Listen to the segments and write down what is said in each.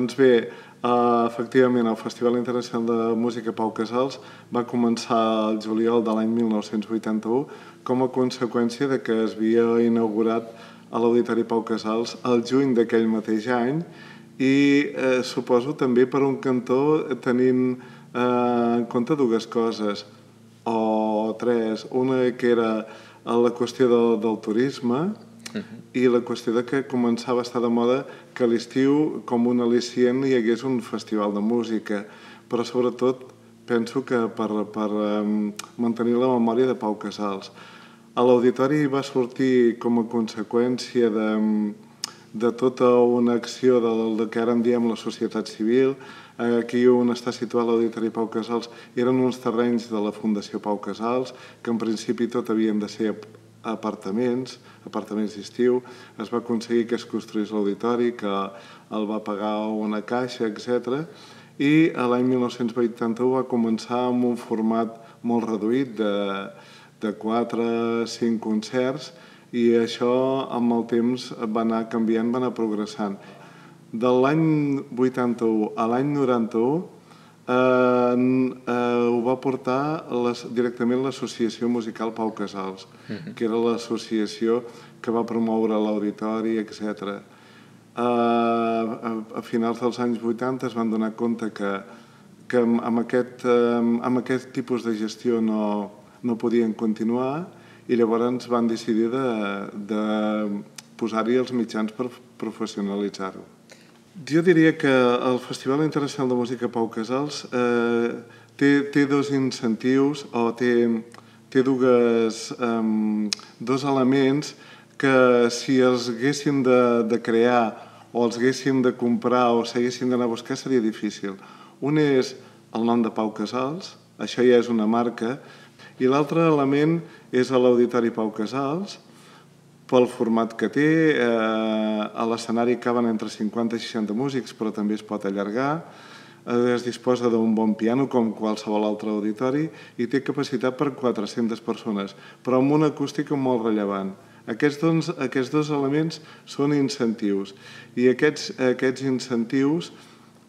Doncs bé, efectivament, el Festival Internacional de Música Pau Casals va començar el juliol de l'any 1981 com a conseqüència de que es havia inaugurat a l'Auditori Pau Casals el juny d'aquell mateix any i suposo també per un cantó tenint en compte dues coses, o tres. Una que era la qüestió del turisme i la qüestió de que començava a estar de moda que a l'estiu, com un al·licient, hi hagués un festival de música, però sobretot penso que per mantenir la memòria de Pau Casals. A l'auditori va sortir com a conseqüència de tota una acció del que ara en diem la societat civil. Aquí on està situat l'Auditori Pau Casals eren uns terrenys de la Fundació Pau Casals, que en principi tot havien de ser apartaments d'estiu. Es va aconseguir que es construís l'auditori, que el va pagar una caixa, etc. I l'any 1981 va començar amb un format molt reduït de 4 a 5 concerts i això amb el temps va anar canviant, va anar progressant. De l'any 81 a l'any 91 ho va portar directament l'Associació Musical Pau Casals, que era l'associació que va promoure l'auditori, etc. A finals dels anys 80 es van donar compte que amb aquest tipus de gestió no podien continuar i llavors van decidir de posar-hi els mitjans per professionalitzar-ho. Jo diria que el Festival Internacional de Música Pau Casals té dos incentius o té dos elements que si els haguéssim de crear o els haguéssim de comprar o s'haguessin d'anar a buscar seria difícil. Un és el nom de Pau Casals, això ja és una marca, i l'altre element és l'Auditori Pau Casals, pel format que té. A l'escenari caben entre 50 i 60 músics, però també es pot allargar. Es disposa d'un bon piano, com qualsevol altre auditori, i té capacitat per 400 persones, però amb una acústica molt rellevant. Aquests dos elements són incentius, i aquests incentius,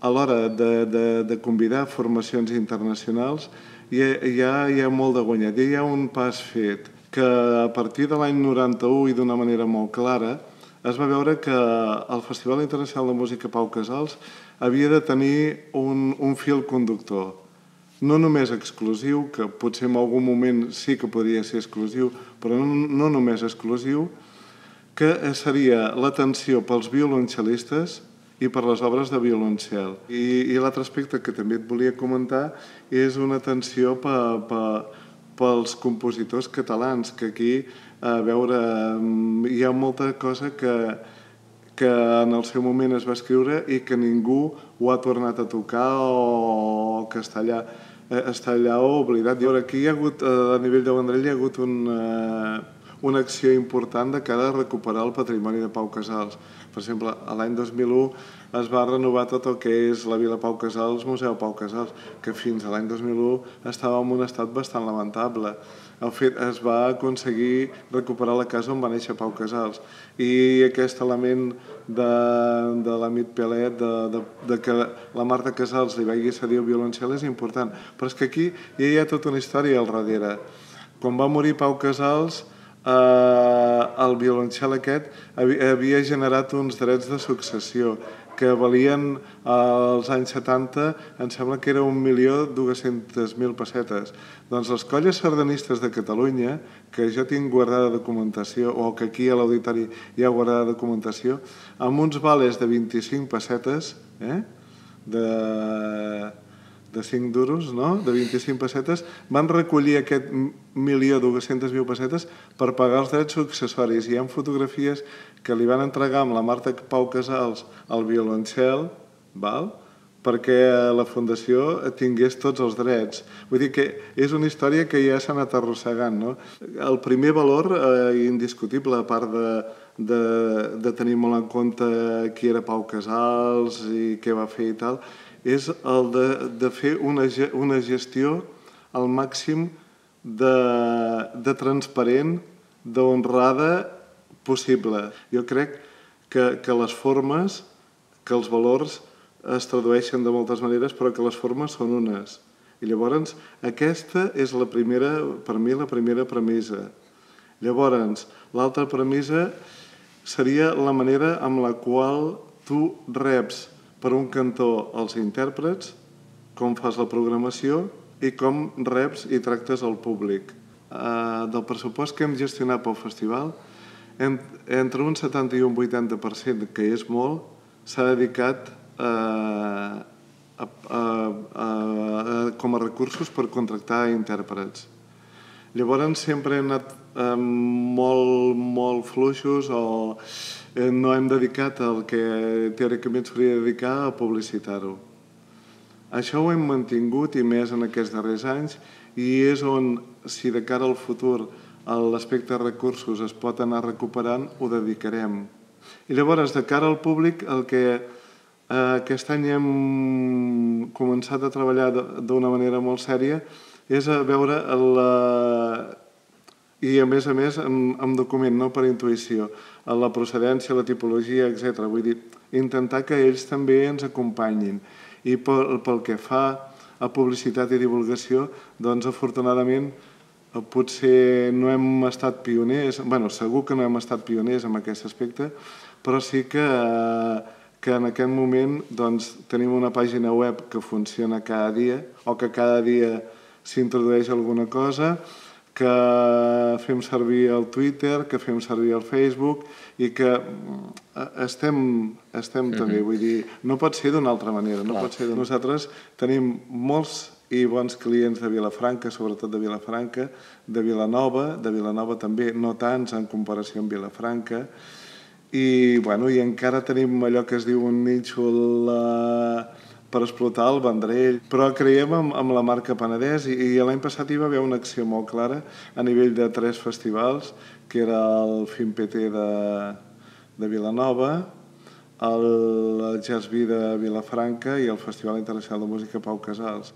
a l'hora de convidar formacions internacionals, ja hi ha molt de guanyat, ja hi ha un pas fet, que a partir de l'any 91 i d'una manera molt clara es va veure que el Festival Internacional de Música Pau Casals havia de tenir un fil conductor, no només exclusiu, que potser en algun moment sí que podria ser exclusiu, però no només exclusiu, que seria l'atenció pels violoncel·listes i per les obres de violoncel. I l'altre aspecte que també et volia comentar és una atenció pels compositors catalans, que aquí, a veure, hi ha molta cosa que en el seu moment es va escriure i que ningú ho ha tornat a tocar o que està allà oblidat. Aquí hi ha hagut, a nivell de Vendrell, hi ha hagut una acció important de cara a recuperar el patrimoni de Pau Casals. Per exemple, l'any 2001 es va renovar tot el que és la Vila Pau Casals, Museu Pau Casals, que fins a l'any 2001 estava en un estat bastant lamentable. Es va aconseguir recuperar la casa on va néixer Pau Casals. I aquest element de l'Amit Pelet, de que la Marta Casals li vagi cedir el violoncel és important. Però és que aquí ja hi ha tota una història al darrere. Quan va morir Pau Casals, el violoncel aquest havia generat uns drets de successió que valien als anys 70, em sembla que era 1.200.000 pessetes. Doncs les colles sardanistes de Catalunya, que jo tinc guardada documentació, o que aquí a l'auditori hi ha guardada documentació, amb uns vales de 25 pessetes, de 5 duros, no? De 25 pessetes, van recollir aquest 1.200.000 pessetes per pagar els drets successoris. Hi ha fotografies que li van entregar amb la Marta Pau Casals al violoncel, perquè la Fundació tingués tots els drets. Vull dir que és una història que ja s'ha anat arrossegant, no? El primer valor indiscutible, a part de tenir molt en compte qui era Pau Casals i què va fer i tal, és el de fer una gestió al màxim de transparent, d'honrada possible. Jo crec que les formes, que els valors es tradueixen de moltes maneres, però que les formes són unes. I llavors, aquesta és la primera, per mi, la primera premissa. Llavors, l'altra premissa seria la manera amb la qual tu reps per un cantó els intèrprets, com fas la programació i com reps i tractes el públic. Del pressupost que hem gestionat pel festival, entre un 70 i un 80%, que és molt, s'ha dedicat com a recursos per contractar intèrprets. Llavors sempre hem anat molt fluixos o no hem dedicat el que teòricament s'hauria de dedicar a publicitar-ho. Això ho hem mantingut i més en aquests darrers anys i és on, si de cara al futur l'aspecte recursos es pot anar recuperant, ho dedicarem. I llavors, de cara al públic, el que aquest any hem començat a treballar d'una manera molt sèria és a veure i a més amb document, no per intuïció, la procedència, la tipologia, etc. Vull dir, intentar que ells també ens acompanyin. I pel que fa a publicitat i divulgació, doncs afortunadament potser no hem estat pioners, bueno, segur que no hem estat pioners en aquest aspecte, però sí que en aquest moment tenim una pàgina web que funciona cada dia o que cada dia s'introdueix alguna cosa, que fem servir el Twitter, que fem servir el Facebook i que estem també, vull dir, no pot ser d'una altra manera. Nosaltres tenim molts i bons clients de Vilafranca, sobretot de Vilafranca, de Vilanova també, no tants en comparació amb Vilafranca, i encara tenim allò que es diu un nínxol per explotar el Vendrell, però creiem en la marca Penedès i l'any passat hi va haver una acció molt clara a nivell de 3 festivals, que era el FIMPT de Vilanova, el Jazz Vida de Vilafranca i el Festival Internacional de Música Pau Casals.